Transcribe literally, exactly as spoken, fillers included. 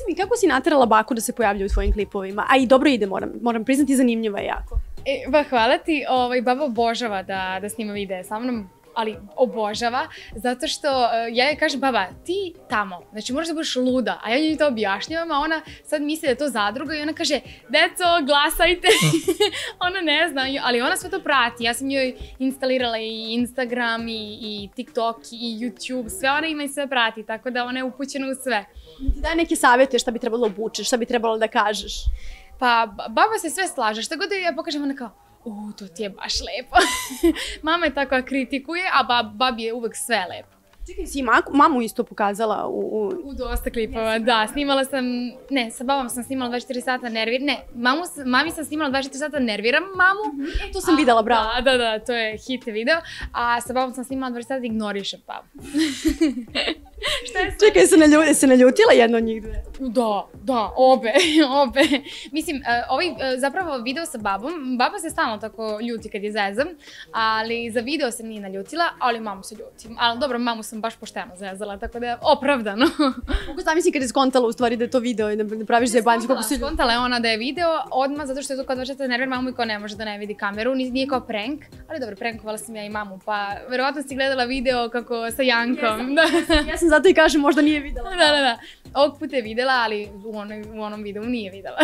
reci mi, kako si naterala baku da se pojavlja u tvojim klipovima? A i dobro ide, moram, moram priznati, zanimljiva je jako. E, ba, hvala ti, ovaj, baba obožava da, da snima videe sa mnom, ali obožava, zato što uh, ja joj kažem, baba, ti tamo, znači moraš da budeš luda, a ja njoj to objašnjavam, a ona sad misli da je to zadruga i ona kaže, deco, glasajte, ona ne zna, ali ona sve to prati, ja sam joj instalirala i Instagram, i, i TikTok, i YouTube, sve ona ima i sve prati, tako da ona je upućena u sve. Ti daj neke savjete šta bi trebalo obučeš, šta bi trebalo da kažeš? Pa, baba se sve slaže, šta god da ja pokažem, ona kao, u, to ti je baš lepo. Mama je tako kritikuje, a bab, babi je uvek sve lepo. Čekaj, si mamu isto pokazala u... U, u dosta klipova, da. Snimala sam, ne, sa babom sam snimala dvadeset četiri sata nervir, ne, mamu, mami sam snimala dvadeset četiri sata nerviram mamu. E, to sam videla, bravo. Da, da, da, to je hit video. A sa babom sam snimala dvadeset sata ignorišem babu. Šta je sve? Čekaj, se, nalju, se naljutila jedna od njih dve? Da, da, obe, obe. Mislim, uh, ovaj uh, zapravo video sa babom, baba se stalno tako ljuti kad je zezam, ali za video se nije naljutila, ali mamu se ljutim. Ali dobro, mamu sam baš pošteno zezala, tako da je opravdano. Kako zamisli kad je skontala u stvari da je to video i da ne praviš zajebanci, kako se ljuti? Skontala je ona da je video odmah, zato što je to kao dvadeset nervir mamu i ko ne može da ne vidi kameru, nije kao prank, ali dobro, prankovala sam ja i mamu, pa verovatno si gledala video kako sa Jankom. Ja sam zato i kažem, možda nije videla. Da, da, da. Ovog puta je videla, ali u, onoj, u onom videu nije videla.